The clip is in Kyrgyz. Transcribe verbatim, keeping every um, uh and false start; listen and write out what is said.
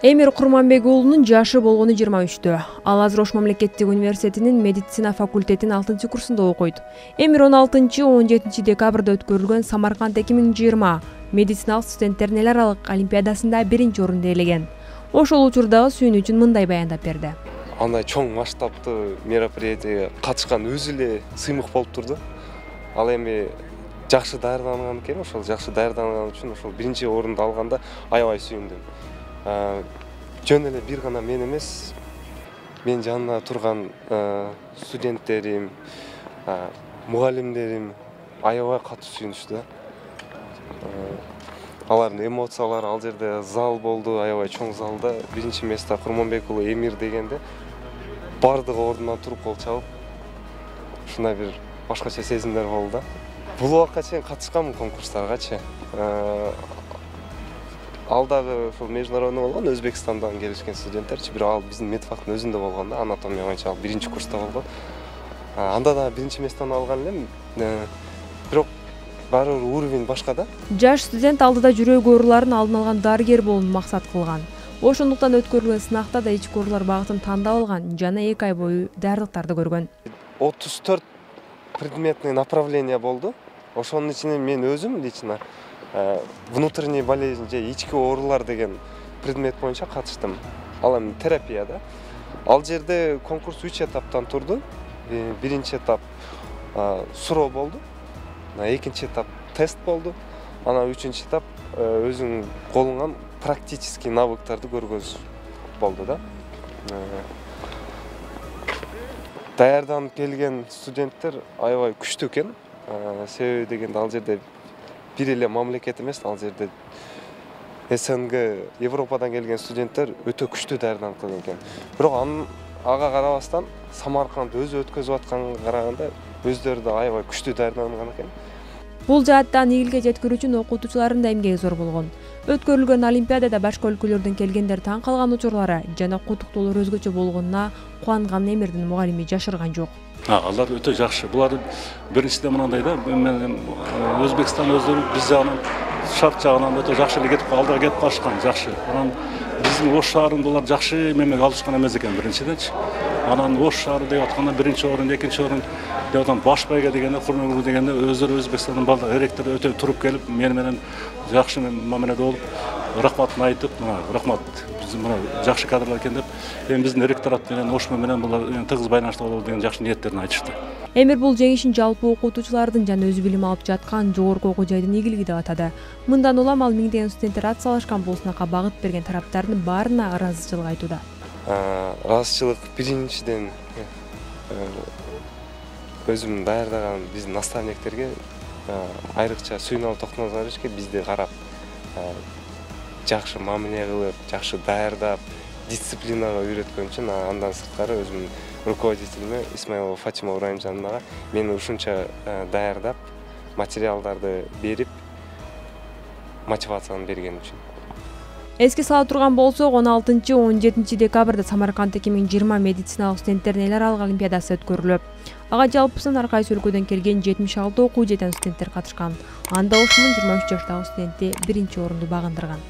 Эмир Курманбек уулунун жашы болгону жыйырма үчтө. Ал азыр Ош мамлекеттик университетинин медицина факультетинин алтынчы курсунда окуйт. Эмир он алтынчы он жетинчи декабрда өткөрүлгөн Самарканд эки миң жыйырма медициналык студенттердин эл аралык олимпиадасында биринчи орунду ээлеген. Ошол учурдагы сүйүнү үчүн мындай баяндап берди. Андай чоң масштабтуу мероприятияга катышкан өзү эле сыймык болуп турду. Ал эми жакшы даярданган экен, ошол жакшы даярданган үчүн ошол биринчи орунду алганда аябай сүйүндүм. Жөн эле бир гана мен эмес, мен жанында турган студенттерим, мугалимдерим аябай катуу сүйүнүштү. Алардын эмоциялары ал жерде зал болду, аябай чоң залда биринчи место Курманбек уулу Эмир дегенде бардыгы ордунан туруп кол чабып, ушундай бир башкача сезимдер болду. Бул убакка чейин катышканмын конкурстаргачы. Ал дагы ошол международный болгон, Өзбекстандан келишкен студенттерчи, бирок ал биздин медфактын өзүндө болгон да, анатомия боюнча ал биринчи курста болгон. Анда да биринчи местону алган элем. Бирок баары бир уровень башка да. Жаш студент алдыда жүрөк ооруларын алдын алган дарыгер болууну максат кылган. Ошондуктан өткөрүлгөн сынакта да ички оорулар багытын тандап алган жана эки ай бою даярдыктарды көргөн. отуз төрт предметный направление болду. Ошонун ичинен мен өзүм лично внутренний болезнь же ички оорулар деген предмет боюнча катыштым. Ал эми терапия да. Ал жерде конкурс үч этаптан турду. Биринчи этап суроо болду. Экинчи этап тест болду. Анан үчүнчү этап өзүң колуңан практический навыктарды көргөз болду да. Даярданып келген студенттер аябай күчтүү экен. Себеби дегенде ал жерде бир эле мамлекет эмес, ал жерде СНГ, Европадан келген студенттер өтө күчтүү даярданып келген экен. Бирок анын ага карабастан Самарканд өзү өткөзүп атканга караганда өздөрү да аябай күчтүү даярданган экен. Бул жааттан ийгиликке жеткирүү үчүн окутуучулардын да эмгеги зор болгон. Өткөрүлгөн олимпиадада башка өлкөлөрдөн келгендер таң калган учурлары жана куттуктоолор өзгөчө болгонуна кубанган Эмирдин мугалими жашырган жок. Алар өтө жакшы. Булар биринчиден мынандай да, мен Өзбекстан өздөрү биз жагынан шарт жагынан өтө жакшы эле кетип алдыга кетип калышкан, жакшы. Анан биздин Ош шаарында булар жакшы мемге алышкан эмес экен биринчиденчи. Анан Ош шаары деп атканда биринчи орун, экинчи орун деп аткан баш байга дегенде, Курманбек дегенде өздөрү Өзбекстандын бардык эректер өтө туруп келип, мени менен жакшы мамиледе болуп, рахматын айтып, мына рахмат, биз мына жакшы кадрлар экен деп, эми биздин ректорат менен Ош менен булар тыгыз байланышта болобу деген жакшы ниеттерин айтышты. Эмир бул жеңишин жалпы окутуучулардын жана өзү билим алып жаткан жогорку окуу жайдын игилиги деп атады. Мындан улам ал миңдеген студенттер ат салышкан бул сынакка багыт берген тараптардын баарына ыраазычылык айтууда. Ыраазычылык биринчиден өзүм даярдаган биздин наставниктерге, айрыкча Сүйүналы Токтоназаровичке бизди карап, жакшы мамиле кылып, жакшы даярдап, дисциплинага үйрөткөн үчүн, андан сырткары өзүмдүн руководителиме Исмаилова Фатима Урайымжановага мени ушунча даярдап, материалдарды берип, мотивацияны берген үчүн. Эске сала турган болсок, он алтынчы он жетинчи декабрда Самарканд эки миң жыйырма медициналык студенттердин эл аралык олимпиадасы өткөрүлөт. Ага жалпысынан ар кайсы өлкөдөн келген жетимиш алты окуу жетен студенттер катышкан. Анда Ошмун жыйырма үч жаштагы студенти биринчи орунду багындырган.